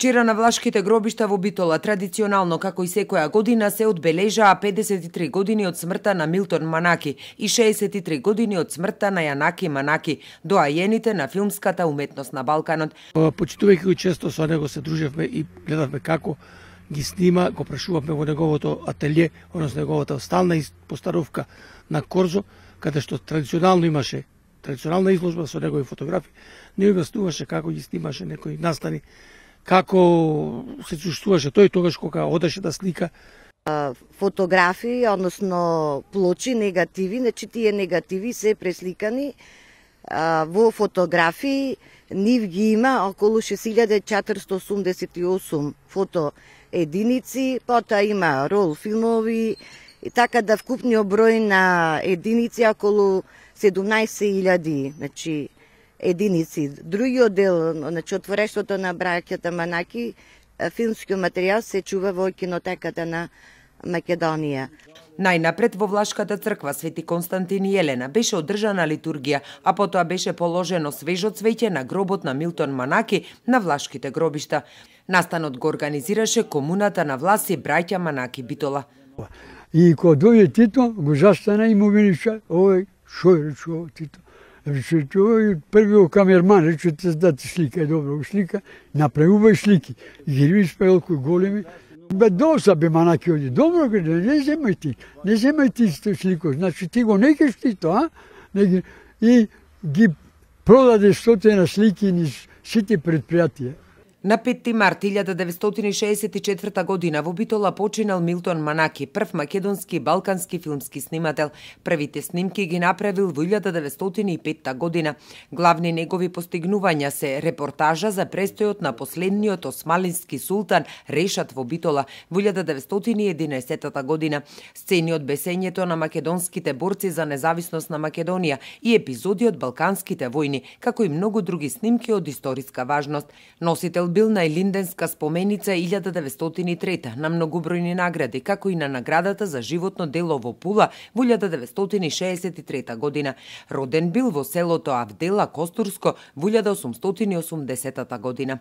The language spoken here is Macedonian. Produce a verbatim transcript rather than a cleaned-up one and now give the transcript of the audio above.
Вчера на влашките гробишта во Битола традиционално како и секоја година се одбележаа педесет и три години од смртта на Милтон Манаки и шеесет и три години од смртта на Јанаки Манаки, доајените на филмската уметност на Балканот. Почитувајќи го често со него се дружевме и гледавме како ги снима, го прашувавме во неговото ателје, односно неговата стална постановка на Корзо, каде што традиционално имаше традиционална изложба со негови фотографии, не објаснуваше како ги снимаше некои настани, како се чувствуваше тој тогаш кога одеше да слика. Фотографии, односно плочи, негативи, значи тие негативи се пресликани во фотографии. Нив ги има околу шест илјади четиристотини осумдесет и осум фото единици, потоа има рол филмови, и така да вкупниот број на единици околу седумнаесет илјади, значи единици. Другиот дел, значи отворештвото на браќата Манаки, филмскиот материјал се чува во кинотеката на Македонија. Најнапред во Влашката црква Свети Константин и Елена беше одржана литургија, а потоа беше положено свежо цвеќе на гробот на Милтон Манаки на влашките гробишта. Настанот го организираше комуната на Власи браќа Манаки Битола. И кога дојде Тито, го застана и му велича, овој, шо е рече Тито? Рече, овој првиот камерман, рече, да ти слика, е добро, слика, направувај слики. И ги видиш пелку големи. Бе, доса бе Манаки оди, добро, не земај ти, не земај ти слико, значи ти го некеш ти то, а? И ги продаде стотина слики низ сите предпријатија. На петти март илјада деветстотини шеесет и четврта година во Битола починал Милтон Манаки, прв македонски и балкански филмски снимател. Првите снимки ги направил во илјада деветстотини и петта година. Главни негови постигнувања се репортажа за престојот на последниот османлиски султан Решат во Битола во илјада деветстотини и единаесетта година, сцени од бесењето на македонските борци за независност на Македонија и епизоди од Балканските војни, како и многу други снимки од историска важност. Носител бил на Илинденска споменица илјада деветстотини и трета на многобројни награди, како и на наградата за животно дело во Пула во илјада деветстотини шеесет и трета година. Роден бил во селото Авдела Костурско во илјада осумстотини и осумдесетта година.